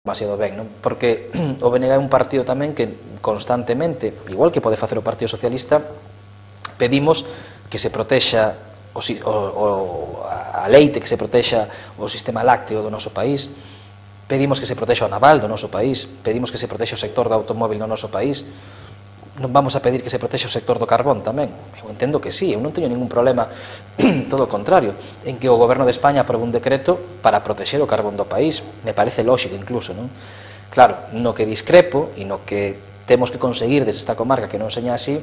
demasiado ben, non? Porque o BNG é un partido tamén que constantemente, igual que pode facer o Partido Socialista, pedimos que se protexa a leite, que se protexa o sistema lácteo do noso país, pedimos que se protexa o naval do noso país, pedimos que se protexa o sector do automóvil no noso país. Non vamos a pedir que se protexa o sector do carbón tamén? Eu entendo que sí, eu non teño ningún problema, todo o contrario, en que o goberno de España aprobe un decreto para protexer o carbón do país. Me parece lógico incluso, non? Claro, no que discrepo e no que temos que conseguir desde esta comarca que non seña así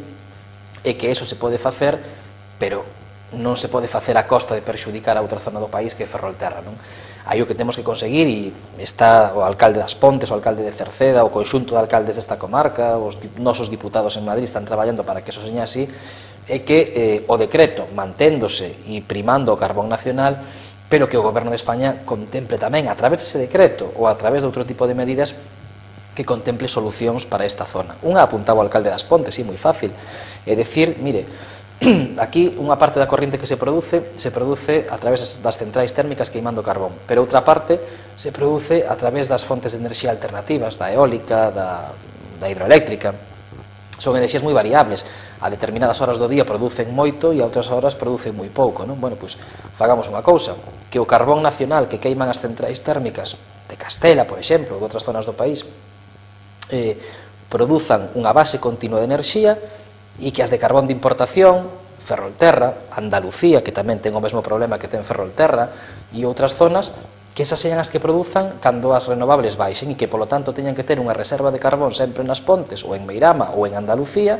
é que eso se pode facer, pero non se pode facer a costa de perxudicar a outra zona do país que é Ferrolterra, non? Aí o que temos que conseguir, e está o alcalde das Pontes, o alcalde de Cerceda, o conxunto de alcaldes desta comarca, os nosos diputados en Madrid están traballando para que eso seña así, é que o decreto manténdose e primando o carbón nacional, pero que o goberno de España contemple tamén, a través dese decreto ou a través de outro tipo de medidas, que contemple solucións para esta zona. Unha apuntaba o alcalde das Pontes, sí, moi fácil, é dicir, mire, aquí unha parte da corriente que se produce a través das centrais térmicas queimando carbón, pero outra parte se produce a través das fontes de enerxía alternativas, da eólica, da hidroeléctrica. Son enerxías moi variables, a determinadas horas do día producen moito e a outras horas producen moi pouco, non? Bueno, pois fagamos unha cousa, que o carbón nacional que queiman as centrais térmicas de Castela, por exemplo, ou de outras zonas do país, produzan unha base continua de enerxía, e que as de carbón de importación, Ferrolterra, Andalucía, que tamén ten o mesmo problema que ten Ferrolterra, e outras zonas, que esas sean as que produzan cando as renovables baixen e que, polo tanto, teñan que ter unha reserva de carbón sempre nas Pontes, ou en Meirama, ou en Andalucía,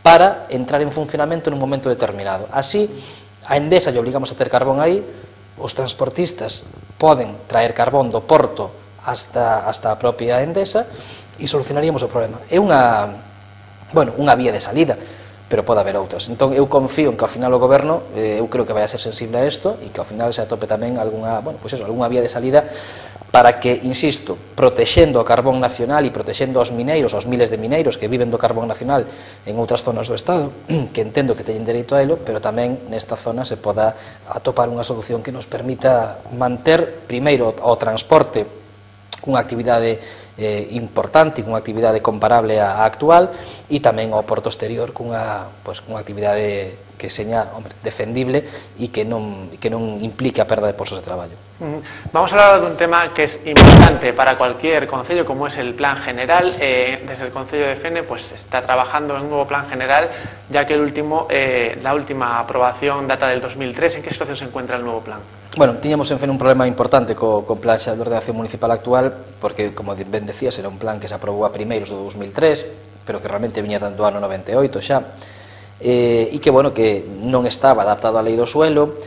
para entrar en funcionamento nun momento determinado. Así, a Endesa lle obligamos a ter carbón aí, os transportistas poden traer carbón do porto hasta a propia Endesa e solucionaríamos o problema. É unha vía de salida, pero pode haber outras. Entón, eu confío en que ao final o goberno, eu creo que vai a ser sensible a isto e que ao final se atope tamén algunha vía de salida para que, insisto, protexendo o carbón nacional e protexendo aos mineiros, aos miles de mineiros que viven do carbón nacional en outras zonas do Estado, que entendo que teñen dereito a elo, pero tamén nesta zona se poda atopar unha solución que nos permita manter, primeiro, o transporte cunha actividade importante, cunha actividade comparable á actual, e tamén ao porto exterior cunha actividade que seña defendible e que non implique a perda de postos de traballo. Vamos a hablar dun tema que es importante para cualquier concello, como es el plan general. Desde el concello de Fene pues está trabajando en un nuevo plan general, ya que la última aprobación data del 2003. ¿En qué situación se encuentra el nuevo plan? Bueno, tiñamos en Fene un problema importante co plan de ordenación municipal actual, porque, como ben decías, era un plan que se aprobou a primeiros do 2003, pero que realmente viña do ano 98 xa, e que, bueno, que non estaba adaptado á lei do suelo,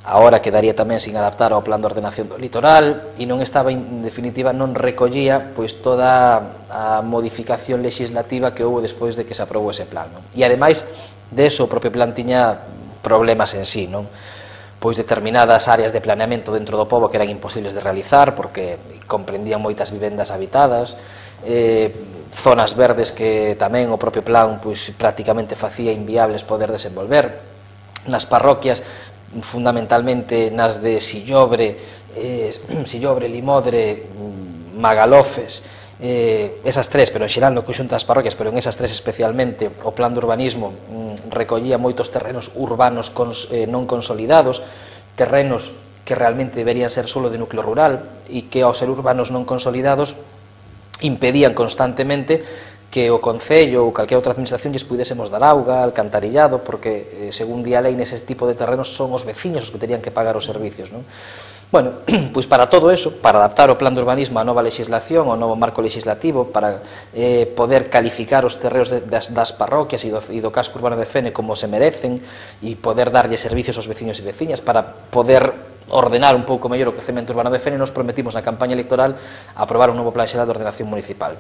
agora quedaría tamén sin adaptar ao plan de ordenación do litoral, e non estaba, en definitiva, non recollía pois toda a modificación legislativa que houve despois de que se aprobou ese plan, non? E, ademais, de eso, o propio plan tiña problemas en sí, non? Pois determinadas áreas de planeamento dentro do pobo que eran imposibles de realizar porque comprendían moitas vivendas habitadas, zonas verdes que tamén o propio plan pois prácticamente facía inviables poder desenvolver. Nas parroquias, fundamentalmente nas de Sillobre, Limodre, Magalofes, esas tres, pero en xeral no conxunto das parroquias, pero en esas tres especialmente, o plan de urbanismo recollía moitos terrenos urbanos non consolidados, terrenos que realmente deberían ser solo de núcleo rural e que ao ser urbanos non consolidados impedían constantemente que o Concello ou calquera outra administración lles pudésemos dar auga, alcantarillado, porque, según di a lei, nese tipo de terrenos son os veciños os que terían que pagar os servicios, non? Bueno, pois para todo eso, para adaptar o plan de urbanismo á nova legislación, ao novo marco legislativo, para poder calificar os terreos das parroquias e do casco urbano de Fene como se merecen e poder darlle servicios aos veciños e veciñas, para poder ordenar un pouco mellor o crecemento urbano de Fene, nos prometimos na campaña electoral aprobar un novo plan xeral de ordenación municipal.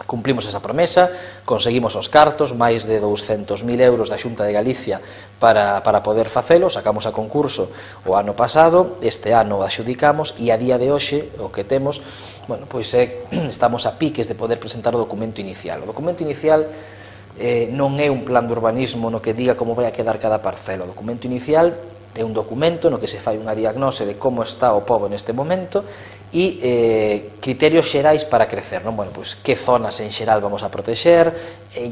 Cumplimos esa promesa, conseguimos os cartos, máis de 200.000 euros da Xunta de Galicia para poder facelo, sacamos a concurso o ano pasado, este ano axudicamos e a día de hoxe o que temos, bueno, pois estamos a piques de poder presentar o documento inicial. O documento inicial non é un plan de urbanismo no que diga como vai a quedar cada parcela. O documento inicial é un documento no que se fai unha diagnose de como está o pobo neste momento e criterios xerais para crecer, non? Bueno, pois, que zonas en xeral vamos a protexer,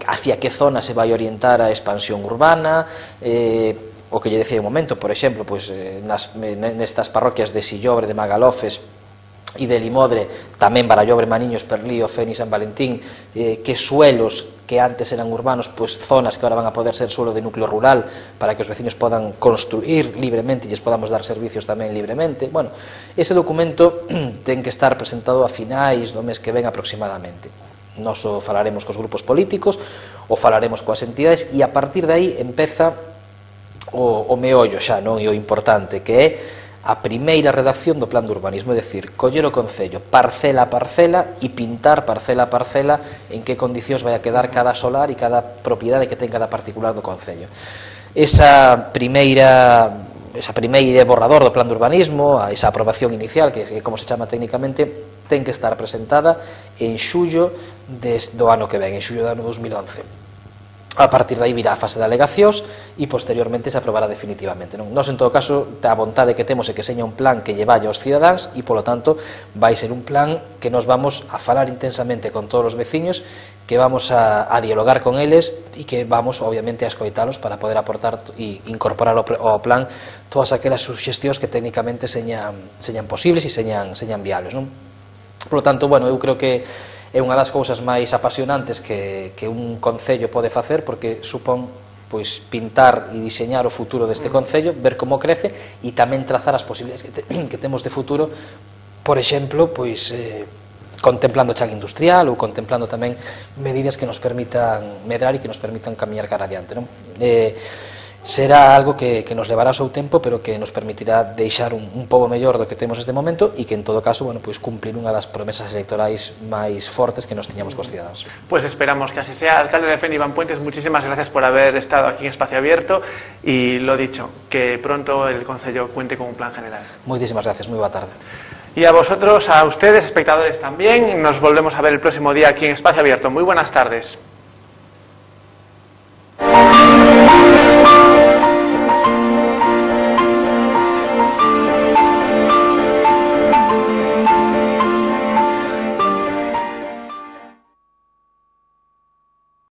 hacia que zona se vai orientar a expansión urbana, o que lle decía un momento, por exemplo, pois, nestas parroquias de Sillobre, de Magalofes e de Limodre, tamén Barallobre, Maniños, Perlío, Feni, San Valentín, que suelos que antes eran urbanos, pois zonas que ahora van a poder ser suelo de núcleo rural para que os vecinos podan construir libremente e lles podamos dar servicios tamén libremente. Bueno, ese documento ten que estar presentado a finais do mes que ven aproximadamente. Nós o falaremos cos grupos políticos, o falaremos coas entidades e a partir de aí empeza o meollo xa, non? E o importante, que é a primeira redacción do plan de urbanismo, é dicir, coller o concello parcela a parcela e pintar parcela a parcela en que condicións vai a quedar cada solar e cada propiedade que ten cada particular do concello. Esa primeira borrador do plan de urbanismo, esa aprobación inicial, que é como se chama técnicamente, ten que estar presentada en xullo do ano que ven, en xullo do ano 2011. A partir de aí virá a fase de alegacións e posteriormente se aprobará definitivamente. Nós, en todo caso, a vontade que temos é que seña un plan que lle vaya aos cidadáns e, polo tanto, vai ser un plan que nos vamos a falar intensamente con todos os veciños, que vamos a dialogar con eles e que vamos, obviamente, a escoitalos para poder aportar e incorporar ao plan todas aquelas suxestións que técnicamente señan posibles e señan viables, non? Por lo tanto, bueno, eu creo que é unha das cousas máis apasionantes que un concello pode facer, porque supón pois pintar e diseñar o futuro deste concello, ver como crece e tamén trazar as posibilidades que temos de futuro, por exemplo, pois contemplando chan industrial ou contemplando tamén medidas que nos permitan medrar e que nos permitan camiñar cara adiante, non? Será algo que nos levará o seu tempo, pero que nos permitirá deixar un pobo mellor do que temos neste momento e que, en todo caso, bueno, pois cumplir unha das promesas electorais máis fortes que nos tiñamos cos cidadáns. Pues esperamos que así sea. Alcalde de Fene, Iván Puentes, muchísimas gracias por haber estado aquí en Espacio Abierto y, lo dicho, que pronto el Concello cuente con un plan general. Muchísimas gracias, muy buena tarde. Y a vosotros, a ustedes, espectadores también, nos volvemos a ver el próximo día aquí en Espacio Abierto. Muy buenas tardes.